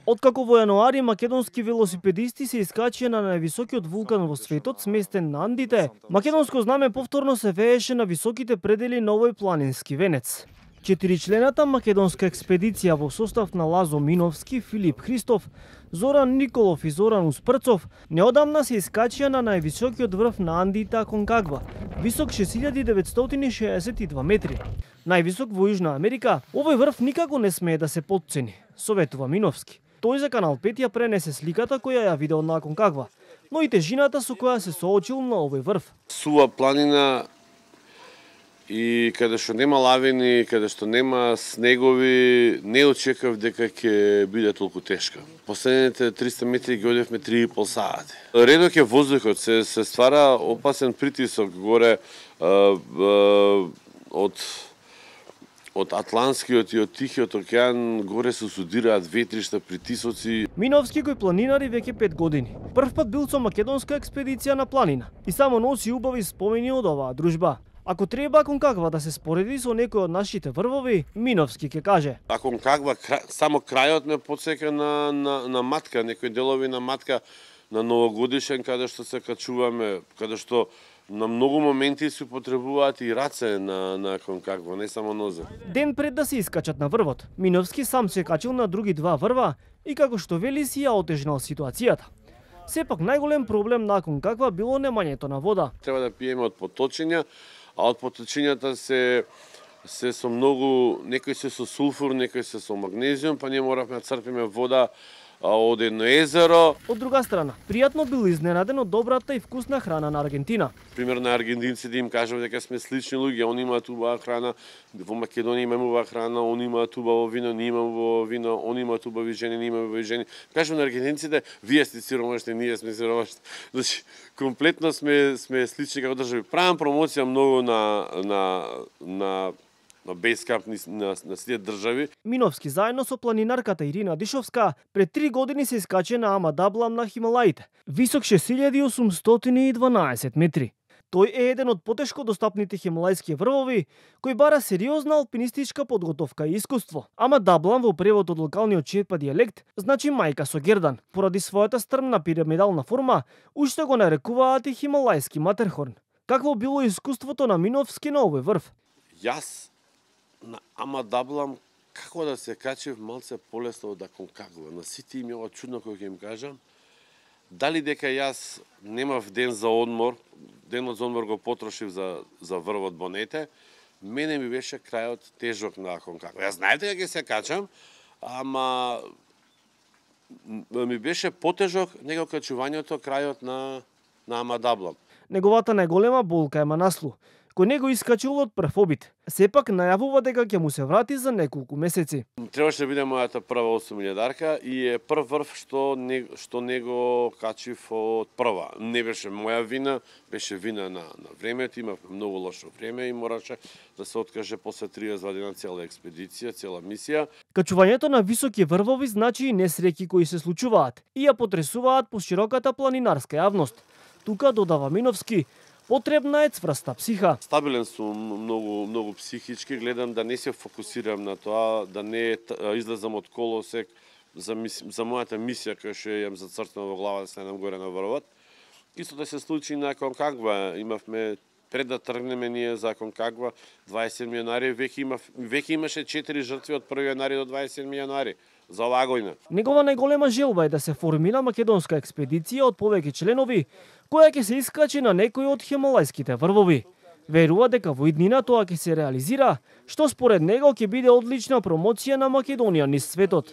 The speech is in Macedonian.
Откако во јануари македонски велосипедисти се искачија на највисокиот вулкан во светот, сместен на Андите, македонско знаме повторно се вееше на високите предели на овој планински венец. 4-члената македонска експедиција во состав на Лазо Миновски, Филип Христов, Зоран Николов и Зоран Успрцов неодамна се искачија на највисокиот врв на Андите Аконкагва, висок 6962 метри. Највисок во Јужна Америка, овој врв никако не смее да се потцени, советува Миновски. Тој за Канал 5 ја пренесе сликата која ја видел на Аконкагва, но и тежината со која се соочил на овој врв. Сува планина и каде што нема лавини, каде што нема снегови, не очекав дека ќе биде толку тешка. Последните 300 метри ги одевме 3,5 сати. Редок е воздухот, се ствара опасен притисок горе од Атлантскиот и од Тихиот океан, горе се судираат ветришта, притисоци. Миновски кој планинари веќе 5 години. Прв пат бил со македонска експедиција на планина и само носи убави спомени од оваа дружба. Ако треба Аконкагва да се спореди со некој од нашите врвови, Миновски ќе каже. Аконкагва само крајот ме потсека на матка, некои делови на матка на новогодишен, каде што се качуваме, каде што на многу моменти се потребуваат и раце на Аконкагва, не само нозе. Ден пред да се искачат на врвот, Миновски сам се качил на други два врва и како што вели си ја отежнал ситуацијата. Сепак најголем проблем на Аконкагва било немањето на вода. Треба да пиеме од поточиња, а од поточињата се со многу, некои се со сулфур, некои се со магнезиум, па ние моравме да црпиме вода од едно езеро. Од друга страна, пријатно бил изненаден од добрата и вкусна храна на Аргентина. Пример на аргентинците им кажав дека сме слични луѓе, они имаат убава храна, во Македонија имаме убава храна, они имаат убаво вино, ние имаме убаво вино, они имаат убави жени, ние имаме убави жени. Кажам на аргентинците, вие сте сиромашни, ние сме сиромашни. Значи, комплетно сме слични како држави. Правам промоција многу на бейскамп на сите држави. Миновски заедно со планинарката Ирина Дишовска пред 3 години се искаче на Ама Даблам на Хималаите, висок 6812 метри. Тој е еден од потешко достапните хималајски врвови, кој бара сериозна алпинистичка подготовка и искуство. Ама Даблам во превод од локалниот черпа дијалект значи мајка со гердан. Поради својата стрмна пирамидална форма, уште го нарекуваат и хималајски Матерхорн. Какво било искуството на Миновски на овој врв? Јас на Ама Даблам, како да се качев малце полесно од Аконкагва. На сите им ова чудно кој ќе им кажам. Дали дека јас немав ден за одмор, денот за одмор го потрошив за врвот Бонете, мене ми беше крајот тежок на Аконкагва. Јас знаев дека ќе се качам, ама ми беше потежок него качувањето крајот на Ама Даблам. Неговата најголема болка е Манаслу, кој него искачил од прв обид. Сепак најавува дека ќе му се врати за неколку месеци. Требаше да биде мојата прва 8000-дарка и е прв врв што него качив од прва. Не беше моја вина, беше вина на времето, имавме многу лошо време и мораше да се откаже после 32 дена цела експедиција, цела мисија. Качувањето на високи врвови значи и несреќи кои се случуваат и ја потресуваат по широката планинарска јавност. Тука, додава Миновски, потребна е цврста психа. Стабилен сум многу психички, гледам да не се фокусирам на тоа, да не излезам од колосек за мојата мисија која што јам зацртана во глава да станам горе на врвот. Исто да се случи на Аконкагва, имавме пред да тргнеме ние за Аконкагва 27 јануари, веќе имаше 4 жртви од 1 јануари до 27 јануари. За оваа година. Негова најголема желба е да се формира македонска експедиција од повеќе членови, која ќе се искачи на некој од хималајските врвови. Верува дека во иднина тоа ќе се реализира, што според него ќе биде одлична промоција на Македонија низ светот.